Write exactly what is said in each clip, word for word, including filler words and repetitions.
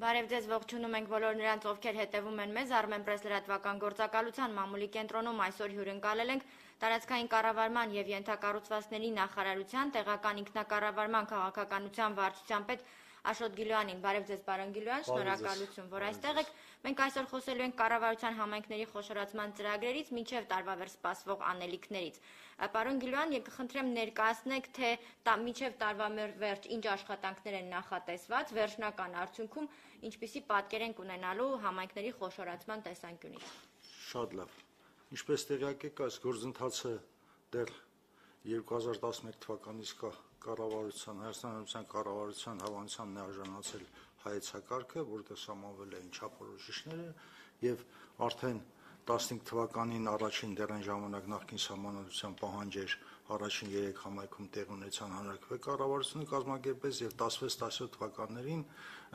Բարև ձեզ, ողջունում ենք բոլոր նրանց, ովքեր հետևում են մեզ, Armenpress լրատվական գործակալության մամուլի կենտրոնում այսօր հյուրընկալել ենք տարածքային կառավարման եւ ենթակառուցվածքների նախարարության տեղական ինքնակառավարման քաղաքականության վարչության պետ Աշոտ Գիլոյանին։ Բարև ձեզ, պարոն Գիլոյան, շնորհակալություն, որ այստեղ եք։ Մենք այսօր խոսելու ենք կառավարության համայնքների խոշորացման ծրագրերից մինչև տարվա վերջ սպասվող անելիքներից։ Պարոն Գիլոյան, եկեք խնդրեմ ներկայացնեք, թե մինչև տարվա վերջ ինչ աշխատանքներ են նախատեսված, վերջնական արդյունքում ինչպիսի պատկեր ենք ունենալու համայնքների խոշորացման տեսանկյունից։ Շատ լավ։ Ինչպես տեղյակ եք, այս գործընթացը դեռ երկու հազար տասնմեկ թվականից կա կառավարության, Հայաստանի Հանրապետության կառավարության հավանության ներառնացել հայեցակարգը, որտեղ սահմանվել էին չափորոշիչները եւ արդեն տասնհինգ թվականին առաջին դեռ այն ժամանակ նախկին սահմանադրության պահանջեր առաջին երեք համայնքում տեղ ունեցան հանրակրվե կառավարությունը կազմակերպեց եւ տասնվեց տասնյոթ թվականներին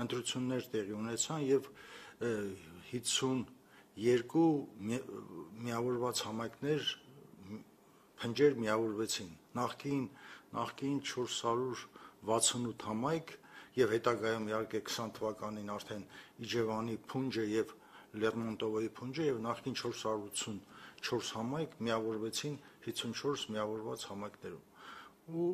ընտրություններ տեղի ունեցան եւ հիսունյոթ միավորված համայնքներ փնջեր միավորվեցին նախկին նախկին չորս հարյուր վաթսունութ համայնք եւ հետագայում իհարկե քսան թվականին արդեն Իջևանի փունջը եւ Լերմոնտովոյի փունջը եւ նախկին չորս հարյուր ութսունչորս համայնք միավորվեցին հիսունչորս միավորված համայնքներում ու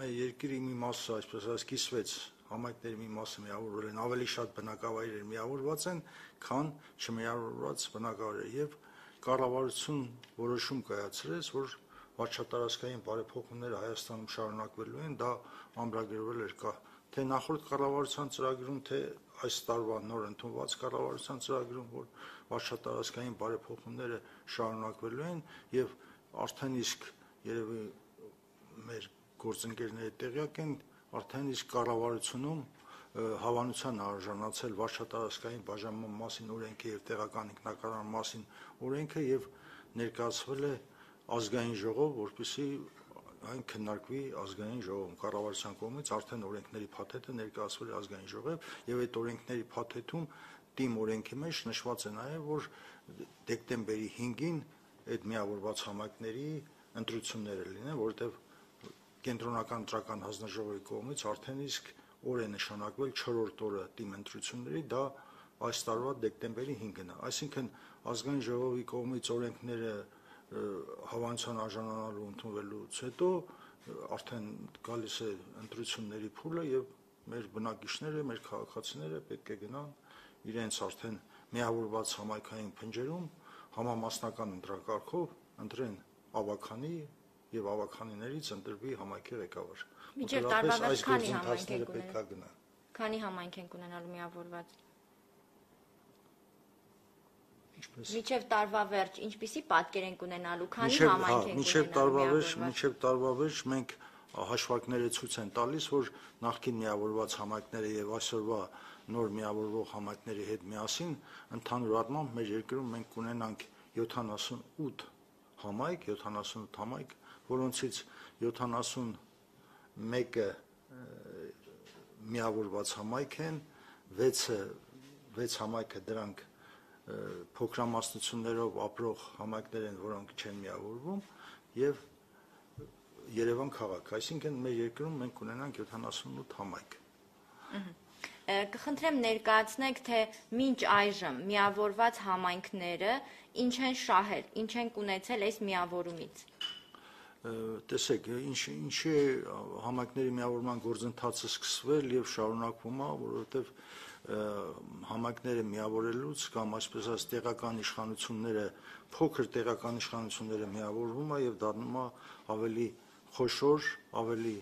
մեր երկրի մի մասը այսպես ասած կիսվեց համայնքների մի մասը միավորվել են ավելի շատ բնակավայրեր միավորված են քան չմիավորված բնակավայրեր եւ կառավարություն որոշում կայացրեց որ վարչատարածքային բարեփոխումները Հայաստանում շարունակվելու են դա ամրագրվել էր կա թե նախորդ կառավարության ծրագրում թե այս տարվա նոր ընդունված կառավարության ծրագրում որ վարչատարածքային բարեփոխումները շարունակվելու են եւ արդեն իսկ երևի մեր գործընկերները տեղյակ են արդեն իսկ կառավարությունում հավանության արժանացել վարչատարածքային բաժանման մասին օրենքը եւ տեղական ինքնակառավարման մասին օրենքը եւ ներկայացվել է ազգային ժողով, որպեսզի այն քննարկվի ազգային ժողովում կառավարության կողմից արդեն օրենքների փաթեթը ներկայացվել է ազգային ժողով եւ այդ օրենքների փաթեթում թիմ օրենքի մեջ նշված է նաեւ որ դեկտեմբերի հինգին այդ միավորված համայնքների ընտրությունները լինեն, որովհետեւ կենտրոնական ընտրական հանձնաժողովի կողմից արդեն իսկ օր է նշանակվել չորրորդ օրը թիմ ընտրությունների, դա այս տարվա դեկտեմբերի հինգն է, այսինքն ազգային ժողովի կողմից օրենքները հավանության արժանանալու ընդունվելուց հետո արդեն գալիս է ընտրությունների փուլը եւ մեր բնակիչները, մեր քաղաքացիները պետք է գնան իրենց արդեն միավորված համայնքային փնջերում համամասնական ընտրակարգով ընտրեն ավագանի եւ ավագանիներից ընտրվի համայնքի ղեկավար։ Մինչեւ տարվա վերջ քանի համայնք են ունենալու։ Քանի համայնք են ունենալու միավորված։ Մինչև տարվա վերջ ինչպիսի պատկեր ենք ունենալու, քանի համայնք ենք ունենալու։ Մինչև տարվա վերջ, մինչև տարվա վերջ մենք հաշվարկները ցույց են տալիս, որ նախկին միավորված համայնքները եւ այսօրվա նոր միավորվող համայնքների հետ միասին ընդհանուր առմամբ մեր երկրում մենք կունենանք յոթանասունութ համայնք, յոթանասունութ համայնք, որոնցից յոթանասունմեկը միավորված համայնք են, վեցը վեց համայնքը դրանք փոքրամասնություններով ապրող համայնքներ են, որոնք չեն միավորվում եւ Երևան քաղաք, այսինքն մեր երկրում մենք ունենանք յոթանասունութ համայնք։ Կխնդրեմ ներկայացնեք, թե մինչ այժմ միավորված համայնքները ինչ են շահել, ինչ են ունեցել այս միավորումից։ Տեսեք, ինչ ինչի համայնքների միավորման գործընթացը սկսվել եւ շարունակվում է, որովհետեւ համայնքները միավորելուց կամ այսպես ասած տեղական իշխանությունները փոքր տեղական իշխանությունները միավորվում է եւ դառնում է ավելի խոշոր, ավելի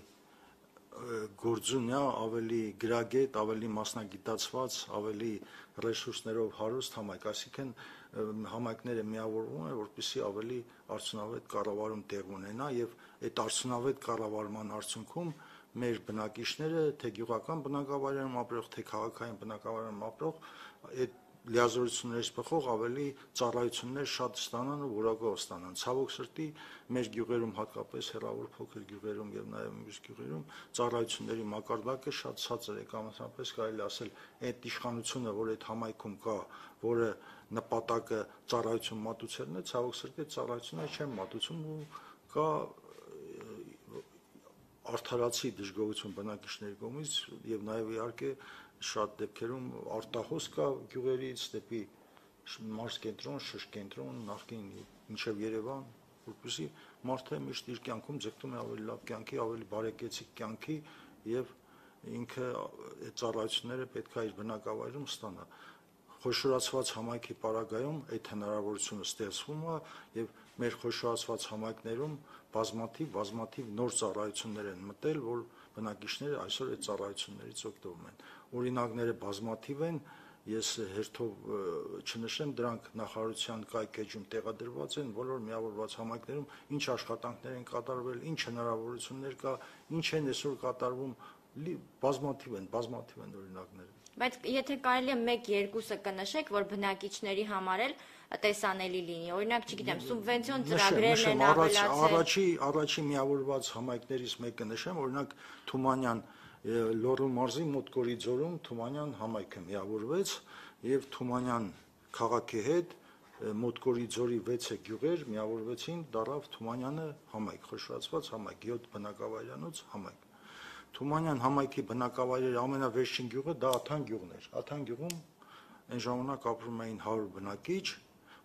գործունյա, ավելի գրագետ, ավելի մասնագիտացված, ավելի ռեսուրսներով հարուստ համայնք, այսինքն համայնքները միավորվում են, որպեսզի ավելի արդյունավետ կառավարում տեղ ունենա եւ այդ արդյունավետ կառավարման արդյունքում մեր բնակիչները թե գյուղական բնակավայրերում ապրող, թե քաղաքային բնակավայրերում ապրող այդ լիազորություններից բխող ավելի ծառայություններ շատ ստանան ու որակով ստանան։ Ցավոք սրտի մեր գյուղերում հատկապես հեռավոր փոքր գյուղերում եւ նաեւ մյուս գյուղերում ծառայությունների մակարդակը շատ ցածր է, կամ ասապես կարելի ասել այդ իշխանությունը, որ այդ համայնքում կա, որը նպատակը ծառայություն մատուցելն է, ցավոք սրտի ծառայությունները չեն մատուցում ու կա արդարացի դժգոհություն բնակիչների կողմից եւ նաեւ իհարկե շատ դեպքերում արտահոս կա գյուղերից դեպի մարզկենտրոն, շրջկենտրոն, նախկին մինչև Երևան, որպեսզի մարդը միշտ իր կյանքում ձգտում է ավելի լավ կյանքի, ավելի բարեկեցիկ կյանքի եւ ինքը այդ ծառայությունները պետք է իր բնակավայրում ստանա։ Խոշորացված համայնքի պարագայում այդ հնարավորությունը ստեղծվում է եւ մեր խոշորացված համայնքներում բազմաթիվ բազմաթիվ նոր ծառայություններ են մտել, որ բնակիչները այսօր այդ ծառայություններից օգտվում են։ Օրինակները բազմաթիվ են, ես հերթով չնշեմ, դրանք նախարարության կայքեջում տեղադրված են բոլոր միավորված համայնքներում, ինչ աշխատանքներ են կատարվել, ինչ հնարավորություններ կա, ինչ են այսօր կատարվում, բազմաթիվ են, բազմաթիվ են օրինակները։ Բայց եթե կարելի է մեկ-երկուսը կնշեք, որ բնակիչների համար էլ տեսանելի լինի, օրինակ, չգիտեմ, սուբվենցիոն ծրագրերն են ավելացել։ Առաջի առաջի միավորված համայնքներից մեկը նշեմ, օրինակ Թումանյան Լոռու մարզի Մոտկորի ձորում Թումանյան համայնքը միավորվեց եւ Թումանյան քաղաքի հետ Մոտկորի ձորի վեցը գյուղեր միավորվեցին, դարավ Թումանյանը համայնք, խոշորացված համայնք, յոթ բնակավայրանոց համայնք։ Թումանյան համայնքի բնակավայրերի ամենավերջին գյուղը դա Աթան գյուղն էր։ Աթան գյուղում այն ժամանակ ապրում էին հարյուր բնակիչ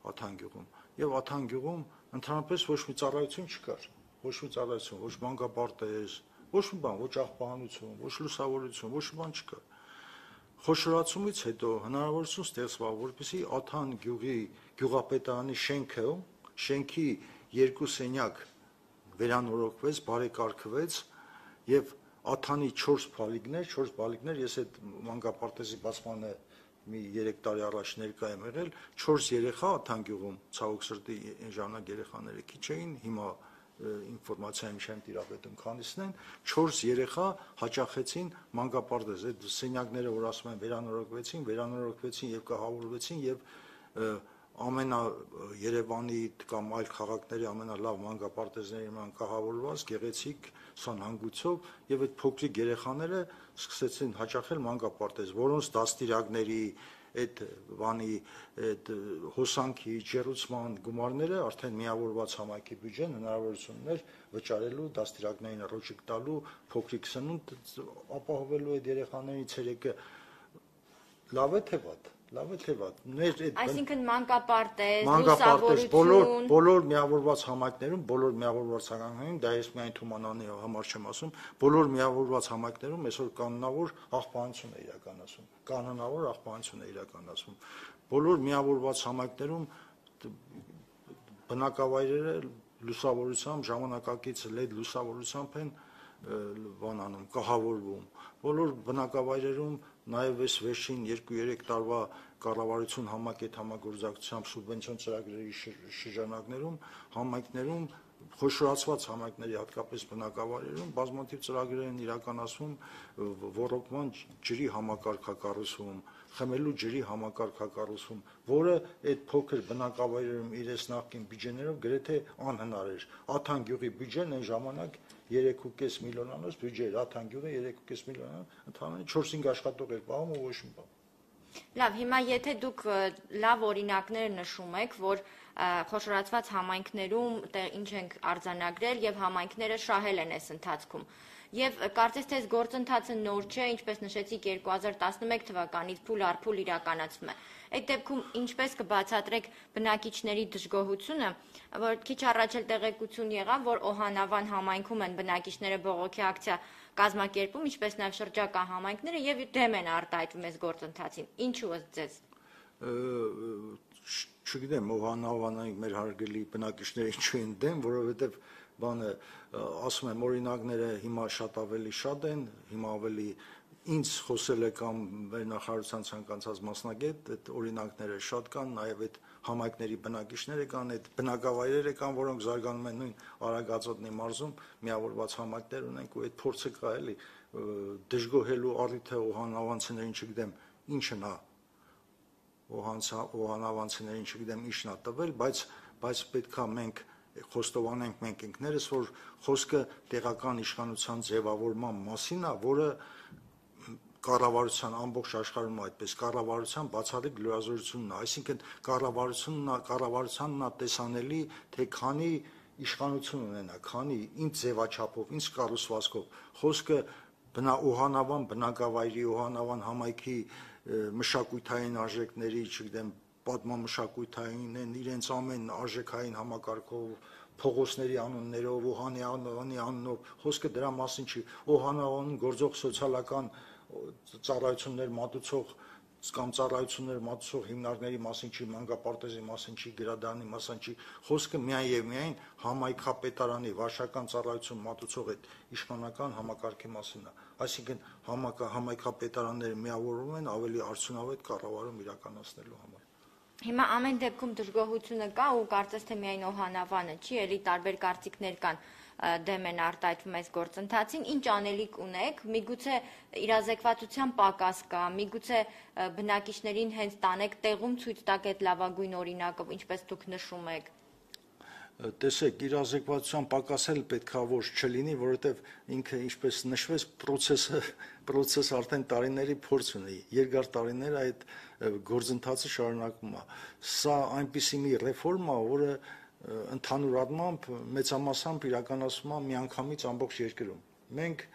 Աթան գյուղում եւ Աթան գյուղում ընդհանրապես ոչ մի ծառայություն չկար, ոչ մի ծառայություն, ոչ բանկապարտեզ, ոչ մի բան, ոչ աղբահանություն, ոչ լուսավորություն, ոչ մի բան չկար։ Խոշորացումից հետո հնարավորություն ստեղծվավ, որպեսզի Աթան գյուղի գյուղապետարանի շենքը, շենքի երկու սենյակ վերանորոգվեց, բարեկարգվեց եւ Աթանի չորս բալիկներ, չորս բալիկներ, ես այդ մանկապարտեզի բացմանը մի երեք տարի առաջ ներկա եմ եղել, չորս երեխա Աթան գյուղում, ցավոք սրտի այն ժամանակ երեխաները քիչ էին, հիմա ինֆորմացիայում չեմ տիրապետում քանիսն են, չորս երեխա հաճախեցին մանկապարտեզ, այդ սենյակները, որ ասում են վերանորոգվեցին, վերանորոգվեցին եւ կահավորվեցին եւ ամենա Երևանի կամ այլ քաղաքների ամենալավ մանկապարտեզների ման կահավորված գեղեցիկ սանհանգույցով եւ այդ փոքրիկ երեխաները սկսեցին հաճախել մանկապարտեզ, որոնց դաստիարակների այդ բանի այդ հոսանքի ջերուցման գումարները արդեն միավորված համայնքի բյուջեն հնարավորություններ վճարելու, դաստիարակներին ռոճիկ տալու, փոքրիկ սնունդ ապահովելու այդ երեխաների ցերեկը լավ է թե վատ։ Լավ է թե վատ։ Այսինքն մանկապարտեզ, լուսավորություն, բոլոր բոլոր միավորված համայնքներում, բոլոր միավորված համայնքներում, դա ես միայն Թումանյանի համար չեմ ասում, բոլոր միավորված համայնքներում այսօր կանոնավոր աղբանություն է իրականացում։ Կանոնավոր աղբանություն է իրականացում։ Բոլոր միավորված համայնքներում բնակավայրերը լուսավորությամբ, ժամանակակից լեդ լուսավորությամբ են բանանում, կահավորվում։ Բոլոր բնակավայրերում նաև այս վերջին երկու-երեք տարվա կառավարություն համակետ համագործակցությամբ սուբվենցիոն ծրագրերի շրջանակներում համայնքներում խոշորացված համայնքների հատկապես բնակավայրերում բազմաթիվ ծրագրեր են իրականացվում ոռոգման ջրի համակարգակառուցում, խմելու ջրի համակարգակառուցում, որը այդ փոքր բնակավայրերում իրենց նախկին բյուջեներով գրեթե անհնար էր։ Աթան գյուղի բյուջեն այն ժամանակ երեք ու կես միլիոնանոց բյուջե էր, Աթան գյուղը երեք ու կես միլիոն, ընդհանրապես չորս-հինգ աշխատող էր պահում ու ոչ մի բան։ Լավ, հիմա եթե դուք լավ օրինակներ նշում եք, որ խոշորացված համայնքներում ինչ ենք արձանագրել եւ համայնքները շահել են այս ընթացքում։ Եվ կարծես թե այս գործընթացը նոր չէ, ինչպես նշեցիք երկու հազար տասնմեկ թվականից փուլ առ փուլ իրականացվում է։ Այդ դեպքում ինչպես կբացատրեք բնակիչների դժգոհությունը, որ քիչ առաջ էլ տեղեկություն եղավ, որ Օհանավան համայնքում են բնակիչները բողոքի ակցիա կազմակերպում, ինչպես նաև շրջակա համայնքները եւ դեմ են արտահայտվում այս գործընթացին։ Ինչու ըստ ձեզ։ Չգիտեմ, Օհանավանի մեր հարգելի բնակիչները ինչու են դեմ, որովհետեւ բանը ասում եմ օրինակները հիմա շատ ավելի շատ են, հիմա ավելի ինձ խոսել է կամ վերնախարարության ցանկացած մասնագետ, այդ օրինակները շատ կան, նաև այդ համայնքների բնակիչները կան, այդ բնակավայրերը կան, որոնք զարգանում են նույն Արագածոտնի մարզում, միավորված համայնքներ ունենք ու այդ փորձը կա էլի դժգոհելու առիթը օհանավանցիներին չգիտեմ ինչն է օհանավանցիներին չգիտեմ ինչն է տվել, բայց բայց պետքա մենք խոստովանենք մենք ինքներս, որ խոսքը տեղական իշխանության ձևավորման մասին է, որը կառավարության ամբողջ աշխարհում այդպես կառավարության բացառիկ լրազորությունն է, այսինքն կառավարությունն է, կառավարությանն է տեսանելի, թե քանի իշխանություն ունենա, քանի ինչ ձևաչափով, ինչ կառուցվածքով, խոսքը բնա Օհանավան բնակավայրի, Օհանավան համայնքի մշակութային արժեքների, չգիտեմ, պատմամշակութային են, իրենց ամեն արժեքային համակարգով, փողոցների անուններով, Օհանյանի անունով, խոսքը դրա մասին չի, Օհանավանում գործող սոցիալական ծառայություններ մատուցող կամ ծառայություններ մատուցող հիմնարկների մասին չի, մանկապարտեզի մասին չի, գրադարանի մասին չի, խոսքը միայն եւ միայն համայնքապետարանի վարչական ծառայություն մատուցող այդ իշխանական համակարգի մասին է, այսինքն համայնքապետարանները միավորվում են ավելի արդյունավետ կառավարում իրականացնելու համար։ Հիմա ամեն դեպքում դժգոհությունը կա ու կարծես թե միայն Օհանավանը չի, էլի տարբեր կարծիքներ կան դեմ են արտահայտվում այս գործընթացին, ինչ անելիք ունեք, միգուցե իրազեկվածության պակաս կա, միգուցե բնակիչներին հենց տանեք տեղում ցույց տակ այդ լավագույն օրինակը, ինչպես դուք նշում եք։ Տեսեք, իրազեկվածության պակաս էլ պետքա որ չլինի, որովհետև ինքը ինչպես նշվեց, process-ը process արդեն տարիների փորձ ունի, երկար տարիներ այդ գործընթացը շարունակվում է։ Սա այնպիսի մի ռեֆորմա, որը ընդհանուր առմամբ մեծամասամբ իրականացվում է միանգամից ամբողջ երկրում։ Մենք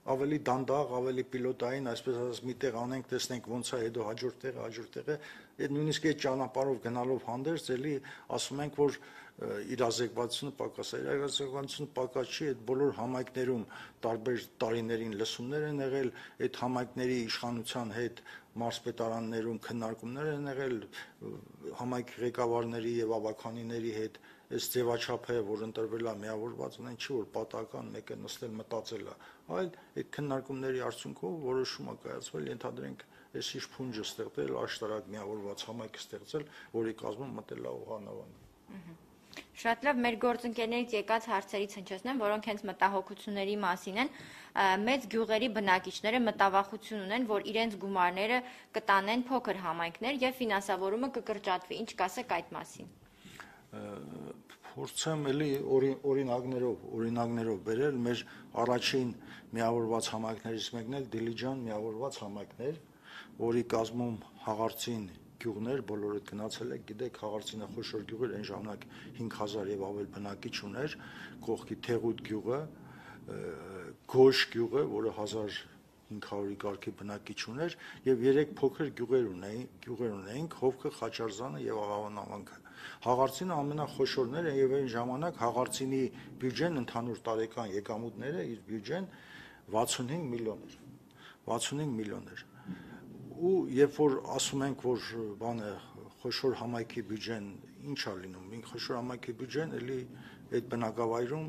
ավելի դանդաղ, ավելի պիլոտային, այսպես ասած, միտեղ անենք, տեսնենք ոնց է, հետո հաջորդ տեղը, հաջորդ տեղը, այդ նույնիսկ այդ ճանապարհով գնալով հանդերձ, էլի ասում ենք, որ իրազեկվածությունը պակաս է, իրազեկվածությունը պակաս չի, այդ բոլոր համայնքներում տարբեր տարիներին լսումներ են եղել, այդ համայնքների իշխանության հետ մարզպետարաններում քննարկումներ են եղել, համայնքի ղեկավարների եւ ավականիների հետ, այս ձևաչափը, որ ընտրվել է միավորված, ունեն չի, որ պատահական մեկը նստել մտածել է, այլ այդ քննարկումների արդյունքով որոշում է կայացվել, ենթադրենք, այս ինչ փունջը ստեղծել, աշտարակ միավորված համայնք ստեղծել, որի կազմում մտել է Օհանավանը։ Շատ լավ, մեր գործընկերներից եկած հարցերից հնչեցնեմ, որոնք հենց մտահոգությունների մասին են, մեծ գյուղերի բնակիչները մտավախություն ունեն, որ իրենց գումարները կտանեն փոքր համայնքներ եւ ֆինանսավորումը կկրճատվի, ինչ կասեք այդ մասին։ Փորձեմ էլի օրինակներով, օրինակներով բերել, մեր առաջին միավորված համայնքներից մեկն էլ Դիլիջան միավորված համայնքներ, որի կազմում Հաղարծին գյուղներ, բոլորը գնացել եք, գիտեք, Հաղարծինը խոշոր գյուղ էր, այն ժամանակ հինգ հազար եւ ավել բնակիչ ուներ, կողքի Թեղուտ գյուղը, Գոշ գյուղը, որը հազար հինգ հարյուրի կարգի բնակիչ ուներ, եւ երեք փոքր գյուղեր ունեին, գյուղեր ունեինք, Հովքը, Խաչարզանը եւ Աղավան ավանքը։ Հաղարծինը ամենախոշորն էր եւ այն ժամանակ Հաղարծինի բյուջեն ընդհանուր տարեկան եկամուտները իր բյուջեն վաթսունհինգ միլիոն էր։ վաթսունհինգ միլիոն էր։ Ու երբ որ ասում ենք, որ բանը խոշոր համայնքի բյուջեն ինչ է լինում, ինք խոշոր համայնքի բյուջեն էլի այդ բնակավայրում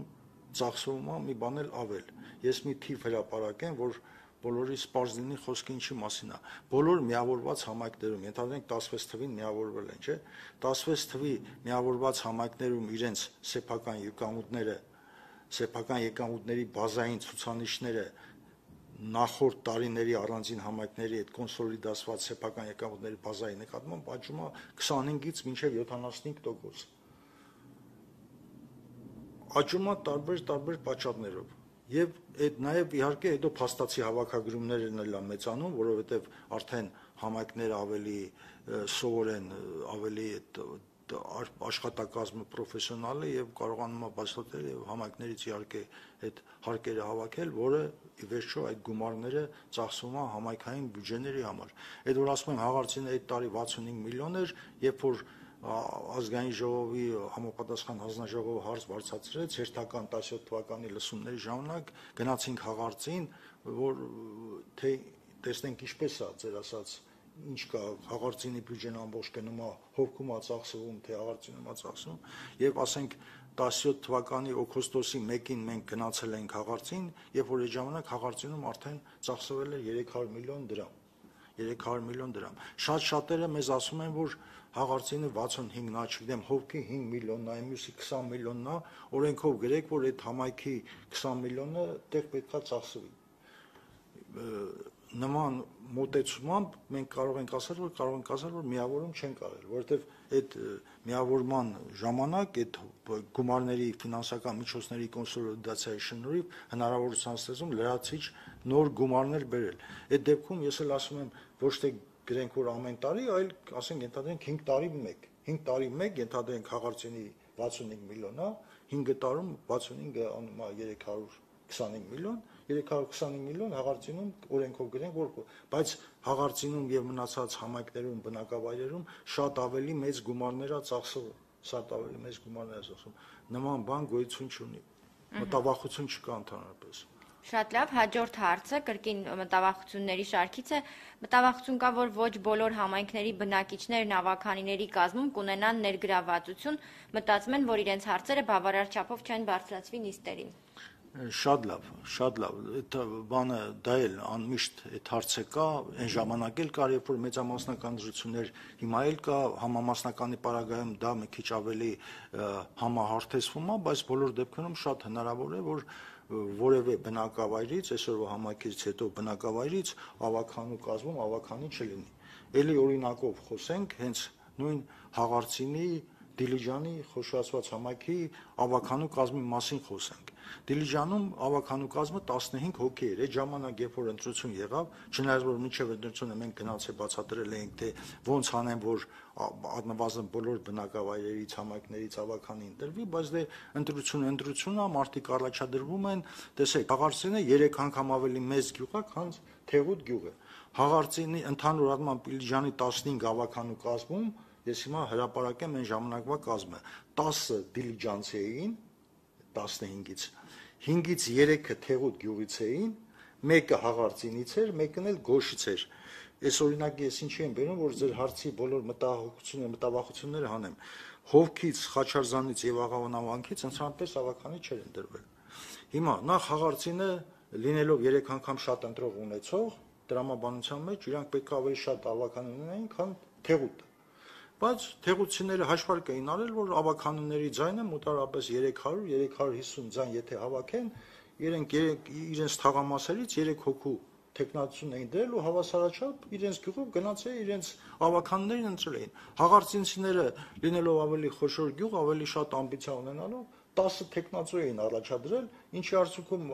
ծախսվում է մի բան էլ ավել։ Ես մի թիվ հրապարակեմ, որ բոլորի սպարզ լինի խոսքը ինչի մասին է։ Բոլոր միավորված համայնքներում, ենթադրենք տասնվեց թվին միավորվել են, չէ՞։ տասնվեց թվի միավորված համայնքներում իրենց սեփական եկամուտները, սեփական եկամուտների բազային ցուցանիշները նախորդ տարիների առանձին համայնքների այդ կոնսոլիդացված սեփական եկամուտների բազայի նկատմամբ աճում է քսանհինգից մինչև յոթանասունհինգ տոկոս։ Աճում է տարբեր տարբեր պատճառներով։ Եվ այդ նաև իհարկե հետո փաստացի հավաքագրումներն էլ են մեծանում, որովհետև արդեն համայնքները ավելի սովոր են, ավելի աշխատակազմը պրոֆեսիոնալ է եւ կարողանում է բացատրել եւ համայնքներից իհարկե այդ հարկերը հավաքել, որը ի վերջո այդ գումարները ծախսվում է համայնքային բյուջեների համար։ Այդ որ ասում եմ Հաղարծինը այդ տարի վաթսունհինգ միլիոն էր, երբ որ ազգային ժողովի համապատասխան հանձնաժողովը հարց բարձրացրեց հերթական տասնյոթ թվականի լսումների ժամանակ գնացինք Հաղարծին, որ թե տեսնենք ինչպես է ձեր ասած ինչ կա Հաղարծինի բյուջեն ամբողջ գնում է Հովքում է ծախսվում, թե Հաղարծինում է ծախսվում, եւ ասենք տասնյոթ թվականի օգոստոսի մեկին մենք գնացել ենք Հաղարծին, երբ որ այդ ժամանակ Հաղարծինում արդեն ծախսվել էր երեք հարյուր միլիոն դրամ, երեք հարյուր միլիոն դրամ։ Շատ շատերը մեզ ասում են, որ Հաղարծինը վաթսունհինգն է, չգիտեմ, Հովքի հինգ միլիոնն է, մյուսի քսան միլիոնն է, օրենքով գրեք, որ այդ համայնքի քսան միլիոնը տեղ պետքա ծախսվի։ Նման մոտեցումամբ մենք կարող ենք ասել, որ կարող ենք ասել, որ միավորում չենք արել, որովհետև այդ միավորման ժամանակ այդ գումարների ֆինանսական միջոցների կոնսոլիդացիայի շնորհիվ հնարավորության ստեղծում լրացիչ նոր գումարներ բերել։ Այդ դեպքում ես էլ ասում եմ, ոչ թե գրենք, որ ամեն տարի, այլ ասենք ենթադրենք հինգ տարի մեկ, հինգ տարի մեկ ենթադրենք Հաղարծինի վաթսունհինգ միլիոն է, հինգ տարում վաթսունհինգը անում է երեք հարյուր քսանհինգ միլիոն, երեք հարյուր քսանհինգ միլիոն հաղարծինում օրենքով գրենք, որ բայց հաղարծինում եւ մնացած համայնքներում, բնակավայրերում շատ ավելի մեծ գումարներ է ծախսվում, շատ ավելի մեծ գումարներ է ծախսվում։ Նման բան գոյություն չունի։ Մտավախություն չկա ընդհանրապես։ Շատ լավ, հաջորդ հարցը կրկին մտավախությունների շարքից է։ Մտավախություն կա, որ ոչ բոլոր համայնքների բնակիչներն ավականիների կազմում կունենան ներգրավվածություն, մտածում են, որ իրենց հարցերը բավարար չափով չեն բարձրացվի նիստերին։ Շատ լավ, շատ լավ, այդ բանը դա էլ անմիշտ այդ հարցը կա, այն ժամանակ էլ կար, երբ որ մեծամասնական դրություններ, հիմա էլ կա, համամասնականի պարագայում դա մի քիչ ավելի համահարթեցվում է, բայց բոլոր դեպքերում շատ հնարավոր է, որ որևէ բնակավայրից, այսօրվա համայնքից հետո բնակավայրից ավականու կազմում ավականի չլինի։ Էլի օրինակով խոսենք, հենց նույն Հաղարծինի, Դիլիջանի խոշորացված համայնքի ավականու կազմի մասին խոսենք։ Դիլիջանում ավականու կազմը տասնհինգ հոգի էր, այդ ժամանակ երբ որ ընտրություն եղավ, չնայած որ մինչև ընտրությունը մենք գնացել բացատրել էինք, թե ոնց անեն, որ առնվազն բոլոր բնակավայրերից, համայնքներից ավականի ընտրվի, բայց դե ընտրությունը ընտրություն է, մարդիկ առաջադրվում են, տեսեք, Հաղարծինը երեք անգամ ավելի մեծ գյուղ է, քան Թեղուտ գյուղը։ Հաղարծինի ընդհանուր առմամբ Դիլիջանի տասնհինգ ավականու կազմում, ես հիմա հրապարակեմ այն ժամանակվա կազմը, տասը դիլիջանցի էին, տասնհինգից, հինգից երեքը Թեղուտ գյուղից էին, մեկը Հաղարծինից էր, մեկն էլ Գոշից էր։ Այս օրինակի ես ինչի եմ բերում, որ ձեր հարցի բոլոր մտահոգությունները, մտավախությունները հանեմ։ Հովքից, Խաչարզանից եւ Աղավանավանքից ընդհանրապես ավականի չեր ընտրվել։ Հիմա նախ Հաղարծինը լինելով երեք անգամ շատ ընտրող ունեցող, դրամաբանության մեջ իրանք պետք է ավելի շատ ավական ունենային, քան Թեղուտը։ Բայց թեղուցիները հաշվարկ էին արել, որ ավականների ձայնը մոտարապես երեք հարյուր երեք հարյուր հիսուն ձայն եթե հավաքեն, իրենք իրենց թաղամասերից երեք հոգու տեխնացություն էին դրել ու հավասարաչափ իրենց գյուղով գնացել իրենց ավականներին ընտրել էին։ Հաղարծինցիները լինելով ավելի խոշոր գյուղ, ավելի շատ ամբիցիա ունենալով տասը տեխնացու էին առաջադրել, ինչի արդյունքում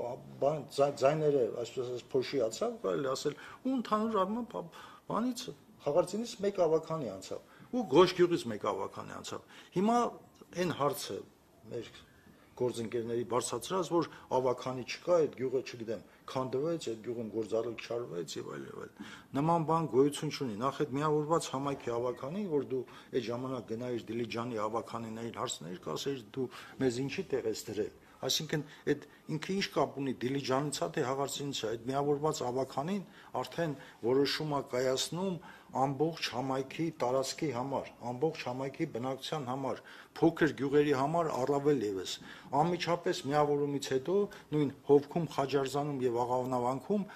ձայները, այսպես ասած, փոշիացավ, կարելի ասել, ու ընդհանուր առմամբ բանից Հաղարծինից մեկ ավականի անցավ։ Ու Գոշ գյուղից մեկ ավականի անցավ։ Հիմա այն հարցը մեր գործընկերների բարձրացրած, որ ավականի չկա, այդ գյուղը չգիտեմ, քանդվեց, այդ գյուղում գործառույթ չարվեց եւ այլ եւ այլ։ Նման բան գոյություն չունի։ Նախ այդ միավորված համայնքի ավականին, որ դու այդ ժամանակ գնայիր Դիլիջանի ավականիներին հարցնեիր, կասեիր դու մեզ ինչի տեղ ես դրել։ Այսինքն այդ ինքը ինչ կապ ունի Դիլիջանից է թե Հաղարծինից է, այդ միավորված ավականին արդեն որոշում է կայացնում ամբողջ համայնքի տարածքի համար, ամբողջ համայնքի բնակչության համար, փոքր գյուղերի համար առավել եւս։ Անմիջապես միավորումից հետո նույն Հովքում, Խաչարզանում եւ Աղավնավանքում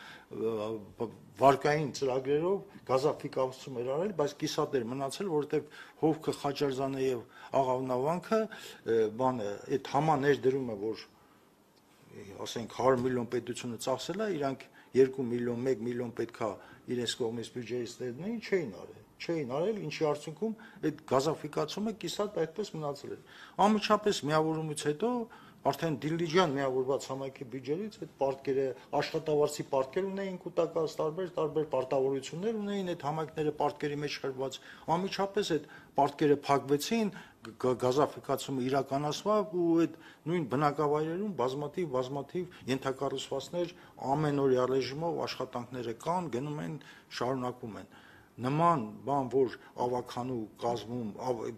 վարկային ծրագրերով գազաֆիկացում էր արել, բայց կիսատ էր մնացել, որովհետեւ Հովքը, Խաչարզանը եւ Աղավնավանքը բանը այդ համաներդրումը, որ ասենք հարյուր միլիոն պետությունը ծախսել է, իրանք երկու միլիոն, մեկ միլիոն պետքա իրենց կողմից բյուջեից ներդնեին, չէին արել, չէին արել, ինչի արդյունքում այդ գազաֆիկացումը կիսատ այդպես մնացել էր։ Անմիջապես միավորումից հետո արդեն Դիլիջան միավորված համայնքի բյուջեից այդ պարտքերը աշխատավարձի պարտքեր ունեին կൂട്ടակած տարբեր տարբեր պարտավորություններ ունեին այդ համայնքները պարտքերի մեջ խրված անմիջապես այդ պարտքերը փակվեցին գազաֆիկացումը իրականացավ ու այդ նույն բնակավայրերում բազմաթիվ բազմաթիվ ենթակառուցվածքներ ամենօրյա ռեժիմով աշխատանքները կան գնում են շարունակվում են նման բան, որ ավականու կազմում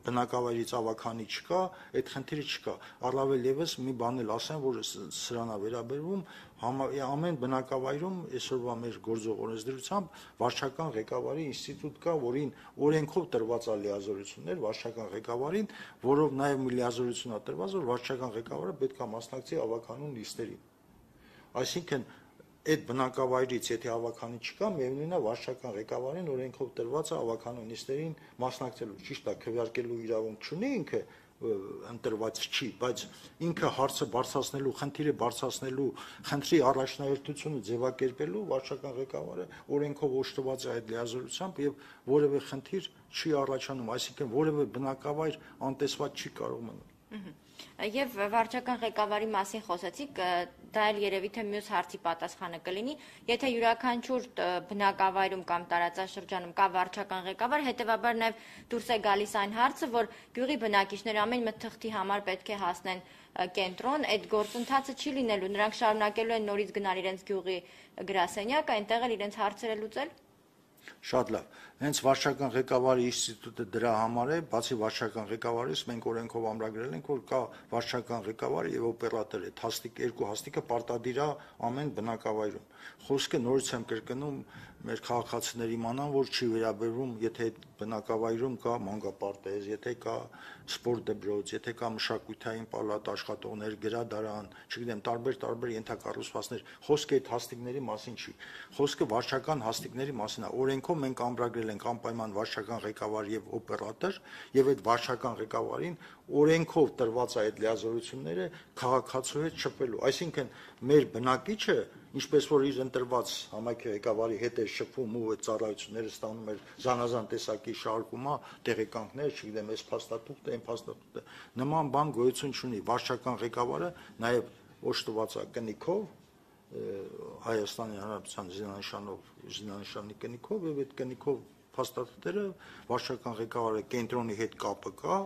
բնակավայրից ավականի չկա, այդ խնդիրը չկա։ Առավել եւս մի բան էլ ասեմ, որ սրանա վերաբերվում ամեն բնակավայրում այսօրվա մեր գործող օրենսդրությամբ վարչական ղեկավարի ինստիտուտ կա, որին օրենքով տրված է լիազորություններ վարչական ղեկավարին, որով նաեւ մի լիազորություն է տրված, որ վարչական ղեկավարը պետք է մասնակցի ավականու նիստերին։ Այսինքն այդ բնակավայրից եթե ավականի չկա, միևնույնն է վարչական ղեկավարին օրենքով տրված է ավականու նիստերին մասնակցելու, ճիշտ է, քվեարկելու իրավունք չունի ինքը ընտրված չի, բայց ինքը հարցը բարձրացնելու, խնդիրը բարձրացնելու, խնդրի առաջնահերթությունը ձևակերպելու վարչական ղեկավարը օրենքով օժտված է այդ լիազորությամբ եւ որևէ խնդիր չի առաջանում, այսինքն որևէ բնակավայր անտեսված չի կարող մնալ։ Եվ վարչական ղեկավարի մասին խոսեցիք, դա էլ երևի թե մյուս հարցի պատասխանը կլինի, եթե յուրաքանչյուր բնակավայրում կամ տարածաշրջանում կա վարչական ղեկավար, հետևաբար նաև դուրս է գալիս այն հարցը, որ գյուղի բնակիչները ամեն մի թղթի համար պետք է հասնեն կենտրոն, այդ գործընթացը չի լինելու, նրանք շարունակելու են նորից գնալ իրենց գյուղի գրասենյակ, այնտեղ էլ իրենց հարցերը լուծել։ Շատ լավ։ Հենց վարչական ղեկավարի ինստիտուտը դրա համար է, բացի վարչական ղեկավարից մենք օրենքով ամրագրել ենք, որ կա վարչական ղեկավար եւ օպերատոր է, հաստիկ երկու հաստիկը պարտադիր է ամեն բնակավայրում։ Խոսքը նորից եմ կրկնում, մեր քաղաքացիների իմանան, որ չի վերաբերվում, եթե այդ բնակավայրում կա մանկապարտեզ, եթե կա սպորտ դպրոց, եթե կա մշակութային պալատ, աշխատողներ, գրադարան, չգիտեմ, տարբեր-տարբեր ենթակառուցվածքներ, խոսքը այդ հաստիկների մասին չի։ Խոսքը վարչական հաստիկների մասին է։ Օրենքով մենք ամրագրել ենք անպայման վարչական ղեկավար եւ օպերատոր, եւ այդ վարչական ղեկավարին օրենքով տրված է այդ լիազորությունները քաղաքացու հետ շփվելու։ Այսինքն մեր բնակիչը, ինչպես որ իր ընտրված համայնքի ղեկավարի հետ է շփվում ու այդ ծառայությունները ստանում էր զանազան տեսակի շարքումա, տեղեկանքներ, չգիտեմ, այս փաստաթուղթը, այն փաստաթուղթը, նման բան գոյություն չունի։ Վարչական ղեկավարը նաեւ օժտված է կնիքով Հայաստանի Հանրապետության զինանշանով, զինանշանի կնիքով եւ այդ կնիքով փաստաթղթերը վարչական ղեկավարը կենտրոնի հետ կապը կա,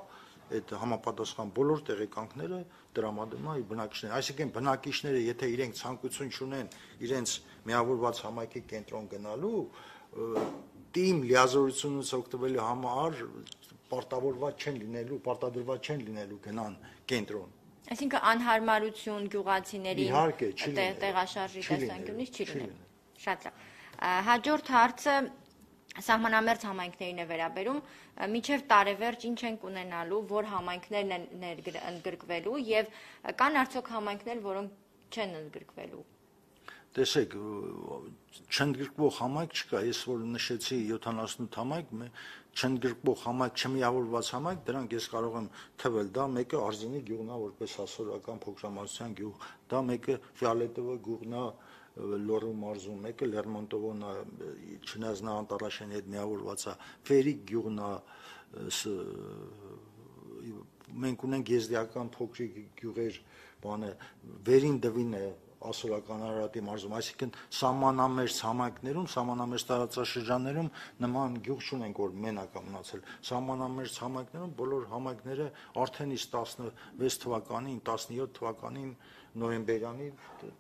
այդ համապատասխան բոլոր տեղեկանքները տրամադրում է իր բնակիչներին։ Այսինքն բնակիչները, եթե իրենք ցանկություն չունեն իրենց միավորված համայնքի կենտրոն գնալու, թիմ լիազորությունից օգտվելու համար պարտավորված չեն լինելու, պարտադրված չեն լինելու գնան կենտրոն։ Այսինքն անհարմարություն գյուղացիների տեղաշարժի տեսանկյունից չի լինելու։ Շատ լավ։ Հաջորդ հարցը սահմանամերձ համայնքներին է վերաբերում, մինչև տարեվերջ ինչ ենք ունենալու, որ համայնքներն են ընդգրկվելու եւ կան արդյոք համայնքներ, որոնք չեն ընդգրկվելու։ Տեսեք, չընդգրկվող համայնք չկա, ես որ նշեցի յոթանասունութ համայնք, չընդգրկվող համայնք, չմիավորված համայնք, դրանք ես կարող եմ թվել, դա մեկը Արզենի գյուղն է, որպես հասարակական փոքրամասնության գյուղ, դա մեկը Ֆիալետովո գյուղն է, Լոռու մարզում, մեկը Լերմոնտովոն է, չնայած նա Անտարաշյանի հետ միավորված է, Ֆերիկ գյուղն է, մենք ունենք եզդիական փոքրիկ գյուղեր, բանը, Վերին դվին է, ասորական Արարատի մարզում, այսինքն սահմանամերձ համայնքներում, սահմանամերձ տարածաշրջաններում նման գյուղ չունենք, որ մենակ է մնացել։ Սահմանամերձ համայնքներում բոլոր համայնքները արդեն իսկ տասնվեց թվականին, տասնյոթ թվականին նոյեմբերյանի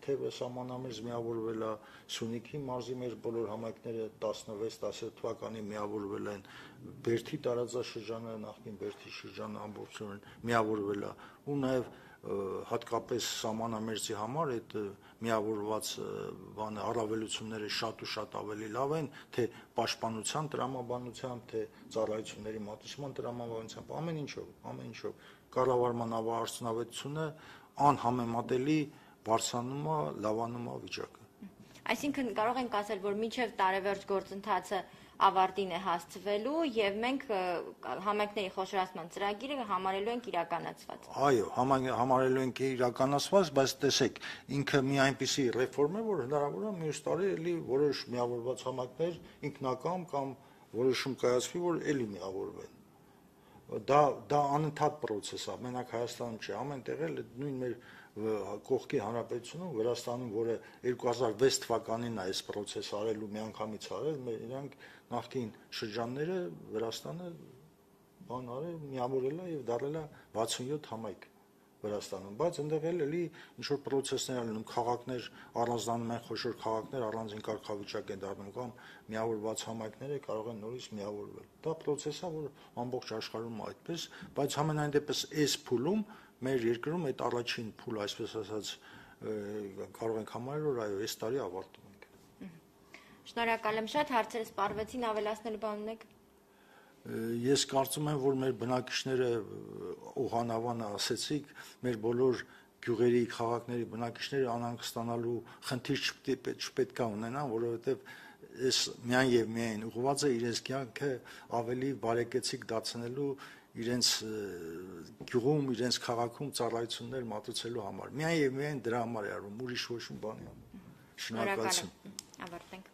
թեւը սահմանամերձ միավորվել է, Սյունիքի մարզի մեր բոլոր համայնքները տասնվեց տասնյոթ թվականին միավորվել են, Բերդի տարածաշրջանը, նախկին Բերդի շրջանը ամբողջովին միավորվել է, ու նաեւ հատկապես սահմանամերձի համար այդ միավորված բանը առավելությունները շատ ու շատ ավելի լավ են, թե պաշտպանության տրամաբանությամբ, թե ծառայությունների մատուցման տրամաբանությամբ, ամեն ինչով, ամեն ինչով կառավարման արդյունավետությունը անհամեմատելի բարձրանում է, լավանում է վիճակը։ Այսինքն կարող ենք ասել, որ մինչև տարեվերջ գործընթացը ավարտին է հասցվելու եւ մենք համայնքների խոշորացման ծրագիրը համարելու ենք իրականացված։ Այո, համարելու ենք իրականացված, բայց տեսեք, ինքը մի այնպիսի ռեֆորմ է, որ հնարավոր է մյուս տարի էլի որոշ միավորված համայնքներ ինքնակամ կամ որոշում կայացվի, որ էլի միավորվեն։ Դա դա անընդհատ process է, մենակ Հայաստանում չէ, ամենտեղ էլ նույն մեր կողքի հանրապետությունում, Վրաստանում, որը երկու հազար վեց թվականին է այս process-ը արելու միանգամից արել, մեր իրանք նախկին շրջանները Վրաստանը բան արել, միավորել է եւ դարձել է վաթսունյոթ համայնք Վրաստանում, բայց այնտեղ էլ էլի ինչ որ process-ներ են լինում, քաղաքներ առանձնանում են, խոշոր քաղաքներ առանձին կարգավիճակ են դառնում կամ միավորված համայնքները կարող են նորից միավորվել։ Դա process-ը, որ ամբողջ աշխարհում է այդպես, բայց համենայն դեպս այս փուլում մեր երկրում այդ առաջին փուլը, այսպես ասած, կարող ենք համարել, որ այո, այս տարի ավարտում ենք։ Շնորհակալ եմ շատ, հարցերը սպառվեցին, ավելացնելու բան ունեք։ Ես կարծում եմ, որ մեր բնակիչները օհանավանը ասեցիք, մեր բոլոր գյուղերի, քաղաքների բնակիչները անհանգստանալու խնդիր չպետք է ունենան, որովհետև այս միայն եւ միայն ուղղված է իրենց կյանքը ավելի բարեկեցիկ դարձնելու իրենց գյուղում, իրենց քաղաքում ծառայություններ մատուցելու համար։ Միայն եւ միայն դրա համար է արվում, ուրիշ ոչ մի բանի համար։ Շնորհակալություն։ Ավարտենք։